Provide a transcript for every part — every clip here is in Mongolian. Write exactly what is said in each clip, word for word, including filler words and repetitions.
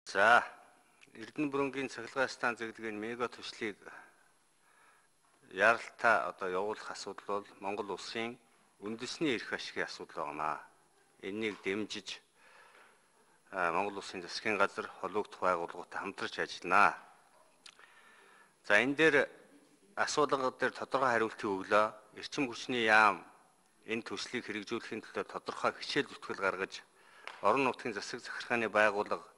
За, Эрдэнэ бүрэнгийн цахилгаан станц зэрэг мега төслийг яралтаа одоо явуулах асуудал бол Монгол улсын үндэсний эрх ашигын асуудал байна. Энийг дэмжиж Монгол улсын засгийн газар холбогдох байгууллагуудтай хамтарч ажиллана. За, энэ дээр асуудал дээр тодорхой хариултыг өглөө. Эрчим хүчний яам энэ төслийг хэрэгжүүлэхийн төлөө тодорхой хичээл зүтгэл гаргаж орон нутгийн засаг захиргааны байгууллага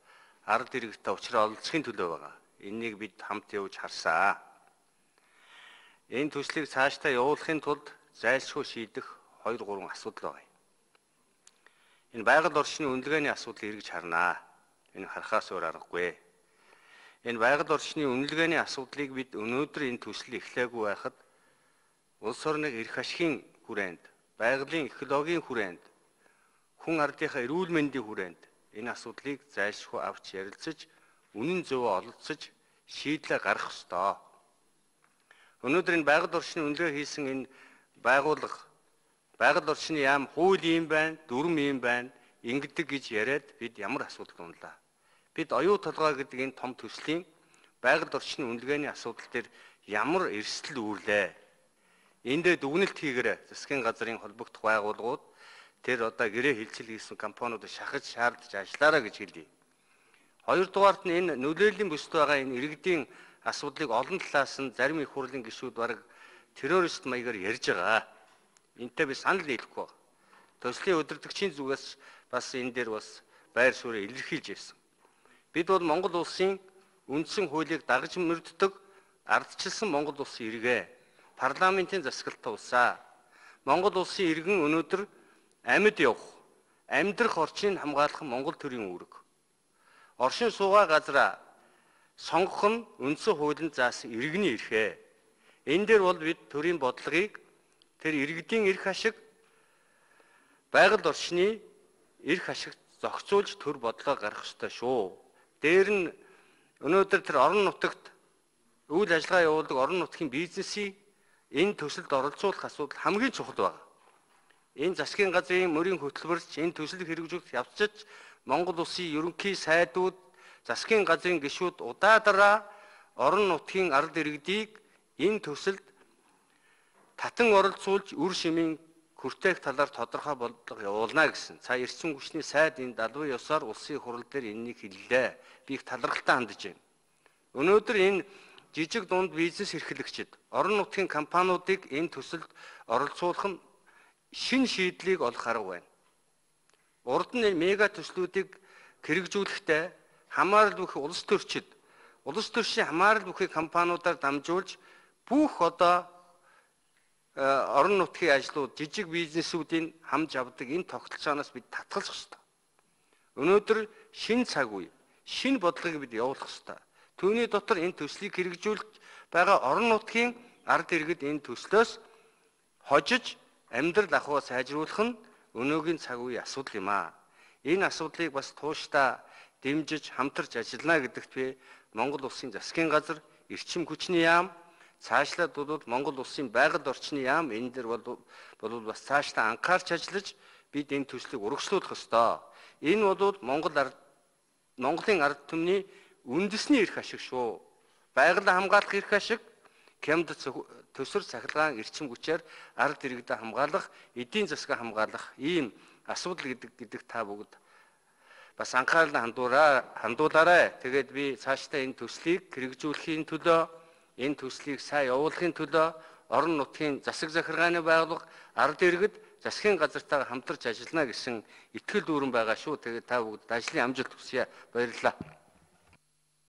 ард иргэдтэй уулзраа олцохын төлөө байгаа. Энийг бид хамт явж харсан. Энэ төслийг цаашдаа явуулахын тулд зайлшгүй шийдэх хоёр гурван асуудал байна. Энэ байгаль орчны үнэлгээний асуудлыг эргэж харнаа. Энэ харахаас өөр аргагүй. Энэ байгаль орчны үнэлгээний асуудлыг бид өнөөдөр энэ төсөл эхлээгүй байхад улс орны эрх ашигын хүрээнд, байгалийн экологийн хүрээнд, хүн ардынхаа эрүүл мэндийн хүрээнд энэ асуудлыг зайлшгүй авч ярилцаж, үнэн зөвөө ололцож, шийдлээ гаргах ёстой. Өнөөдөр энэ байгаль орчны үнэлгээ хийсэн энэ байгууллага, байгаль орчны яам хууль юм байна, дүрм юм байна, ингэдэг гэж яриад бид ямар асуудал унлаа. Бид оюу толгой гэдэг энэ том төслийн байгаль орчны үнэлгээний асуудал дээр ямар эрсдэл үүрлээ. Энд дээр дүгнэлт хийгээрэй. Засгийн газрын холбогдох байгууллагууд тэр одоо гэрээ хилцэл хийсэн компаниудыг шахаж шаардж ажиллаараа гэж хэлье. Хоёрдугаарт нь энэ нөлөөллийн бүсд байгаа энэ иргэдийн асуудлыг олон талаас нь зарим их хурлын гишүүд бараг террорист маягаар ярьж байгаа. Энтэй би санал нийлэхгүй. Төслийн удирдагчийн зүгээс бас энэ дээр бас байр суурь илэрхийлж ирсэн. Бид бол Монгол улсын үндсэн хуулийг дагаж мөрддөг ардчилсан Монгол улсын иргэ, парламентын засаглалтаа улсаа. Монгол улсын иргэн өнөөдөр амьд явах, амьдрах орчныг хамгаалах Монгол төрийн үүрэг. Оршин суугаа газраа сонгох нь үндсэн хуулинд заасан иргэний эрхээ. Энэ дээр бол бид төрийн бодлогыг тэр иргэдийн эрх ашиг, байгаль орчны эрх ашиг зохицуулж төр бодлого гаргах ёстой шүү. Дээр нь өнөөдөр тэр орон нутагт үйл ажиллагаа явуулдаг орон нутгийн бизнесийг энэ төсөлд оролцуулах асуудал хамгийн чухал байна. Энэ засгийн газрын мөрийн хөтөлбөрч энэ төслийг хэрэгжүүлэх явцад Монгол улсын ерөнхий сайдууд, засгийн газрын гишүүд удаадараа орон нутгийн ард иргэдийг энэ төсөлд татан оролцуулж үр шимийн хүртээх талаар тодорхой бодлого явуулна гэсэн. Цаа эрчим хүчний сайд энэ далбар ёсоор улсын хурал дээр энэнийг хэллээ. Би их талархалтай хандж байна. Өнөөдөр энэ жижиг дунд бизнес эрхлэгчид, орон нутгийн компаниудыг энэ төсөлд оролцуулах нь шин шийдлийг олох арга байна. Урд нь мега төслүүдийг хэрэгжүүлэхдээ хамаарал бүхий улс төрчид, улс төрчийн хамаарал бүхий компаниудаар дамжуулж бүх одоо орон нутгийн ажлууд, жижиг бизнесүүдийн хамж авдаг энэ тогтолцооноос бид татгалзах ёстой. Өнөөдөр шин цаг үе, шин бодлогыг бид явуулах ёстой. Түүний дотор энэ төслийг хэрэгжүүлж байгаа орон нутгийн ард иргэд энэ төслөөс хожиж амьдрал ахуйг сайжруулах нь өнөөгийн цаг үеийн асуудал юм аа. Энэ асуудлыг бас тууштай дэмжиж хамтарч ажиллана гэдэгт би Монгол улсын засгийн газар, эрчим хүчний яам, цаашлаад бол Монгол улсын байгаль орчны яам энэ дээр бол бол бас цаашдаа анхаарч ажиллаж бид энэ төслийг урагшлуулах ёстой. Энэ бол Монгол ард Монголын ард түмний үндэсний эрх ашиг шүү. Байгаль хамгаалах эрх ашиг, Кемд төсөр цахилгаан эрчим хүчээр ард иргэдэд хамгаалах, эдийн засаг хамгаалах ийм асуудал гэдэг гэдэг та бүгд бас анхаарал хандуураа хандуулаарай. Тэгээд би цаашдаа энэ төслийг хэрэгжүүлэхийн төлөө, энэ төслийг сайн явуулахын төлөө орон нутгийн засаг захиргааны байгууллага, ард иргэд, засгийн газартайгаа хамтарч ажиллана гэсэн итгэл дүүрэн байгаа шүү. Тэгээд та бүгд ажлын амжилт хүсье. Баярлалаа.